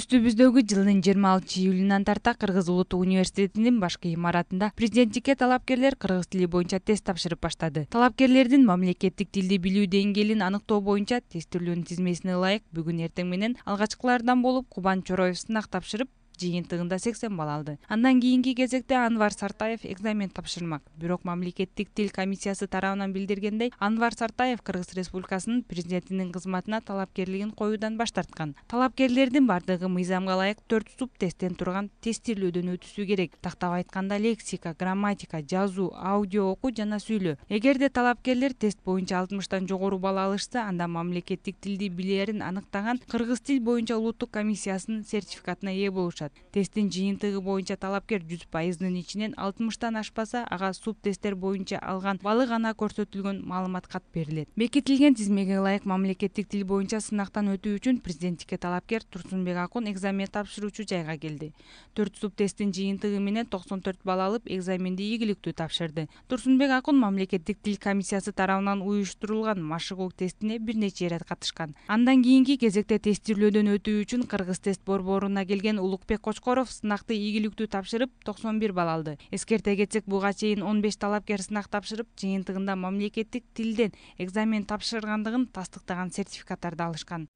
Үстүбүздөгү жылдын 26-июлунан тарта Кыргыз Улуттук университетинин башкы имаратында президенттикке талапкерлер кыргыз тили боюнча тест тапшырып баштады. Талапкерлердин мамлекеттик тилди билүү деңгээлин аныктоо боюнча тестирлөөнүн тизмесине ылайык бүгүн эртең менен алгачкылардан болуп Кубан Чороев сынак тапшырып, жыйынтыгында 80 балл алды. Андан кийинки кезекте Анвар Сартаев экзамен тапшырмак. Бирок мамлекеттик тил комиссиясы тарабынан билдиргендей, Анвар Сартаев Кыргыз Республикасынын президентинин кызматына талапкерлигин коюудан баш тарткан. Талапкерлердин бардыгы мыйзамга ылайык 4 суп тесттен турган тестирлөөдөн өтүшү керек. Тактап айтканда лексика, грамматика, жазуу, аудио окуу жана сүйлөө. Эгерде талапкерлер тест боюнча 60тан жогору балл алышса, анда мамлекеттик тилди билерин аныктаган Кыргыз тил боюнча улуттук комиссиясынын сертификатына ээ болушат. Тесттин жыйынтыгы боюнча талапкер 100%-нын ичинен 60тан ашпаса, ага суп тесттер боюнча алган баллы гана көрсөтүлгөн маалымат кат берилет. Бекитилген тизмеге ылайык мамлекеттик тил боюнча сынактан өтүү үчүн президенттикке талапкер Турсунбек Акун экзамен тапшыруучу жайга келди. 4 суп тесттин жыйынтыгы менен 94 балл алып, экзаменди ийгиликтүү тапшырды. Турсунбек Акун мамлекеттик тил комиссиясы тарабынан уюштурулган машыгуу тестине бир нече ирет катышкан. Андан кийинки кезекте тестирлөөдөн өтүү үчүн Кыргыз тест борборуна келген Улукбек Кочкоров сынакты ийгиликтүү тапшырып 91 балл алды. Эскерте кетсек, буга чейин 15 талапкер сынак тапшырып, жыйынтыгында мамлекеттик тилден экзамен тапшыргандыгын тастыктаган сертификаттарды алышкан.